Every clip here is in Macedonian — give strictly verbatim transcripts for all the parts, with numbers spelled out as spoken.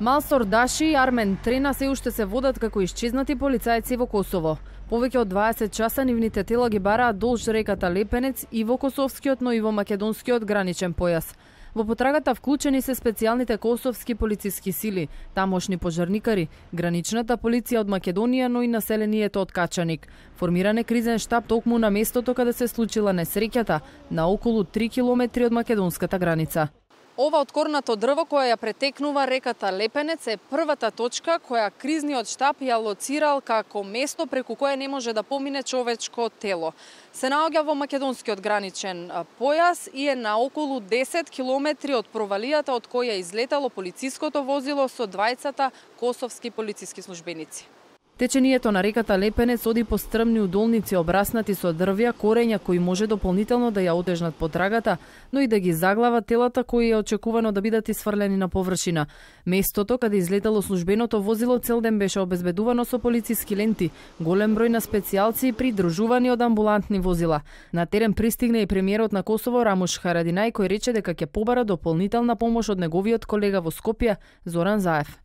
Малсор Даши и Армен Трена се уште се водат како исчезнати полицајци во Косово. Повеќе од дваесет часа нивните тела ги бараат долж реката Лепенец и во косовскиот, но и во македонскиот граничен појас. Во потрагата вклучени се специјалните косовски полициски сили, тамошни пожарникари, граничната полиција од Македонија, но и населението од Качаник. Формиран е кризен штаб токму на местото каде се случила несреќата, на околу три километри од македонската граница. Ова откорнато дрво кое ја претекнува реката Лепенец е првата точка која кризниот штаб ја лоцирал како место преку кое не може да помине човечко тело. Се наоѓа во македонскиот граничен појас и е на околу десет километри од провалијата од која излетало полициското возило со двајцата косовски полициски службеници. Течението на реката Лепенец оди по стрмни удолници обраснати со дрвја, корења кои може дополнително да ја отежнат потрагата, но и да ги заглават телата кои е очекувано да бидат исфрлени на површина. Местото каде излетало службеното возило цел ден беше обезбедувано со полициски ленти, голем број на специјалци придружувани од амбулантни возила. На терен пристигна и премиерот на Косово Рамуш Харадинај, кој рече дека ќе побара дополнителна помош од неговиот колега во Скопје Зоран Заев.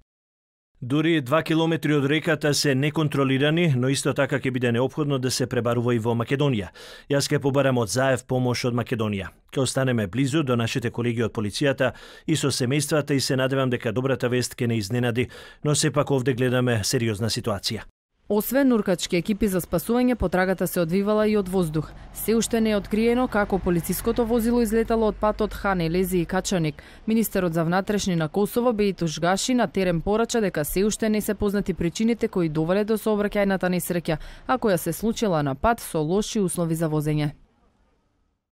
Дури два километри од реката се неконтролирани, но исто така ќе биде неопходно да се пребарува и во Македонија. Јас ќе побарам од Заев помош од Македонија. Ќе останеме близу до нашите колеги од полицијата и со семејствата и се надевам дека добрата вест ќе не изненади, но сепак овде гледаме сериозна ситуација. Освен нуркачки екипи за спасување, потрагата се одвивала и од воздух. Се уште не е откриено како полициското возило излетало од патот Хан Елези и Качаник. Министерот за внатрешни на Косово Бејтуш Гаши на терен порача дека се уште не се познати причините кои довеле до сообраќајната несреќа, а која се случила на пат со лоши услови за возење.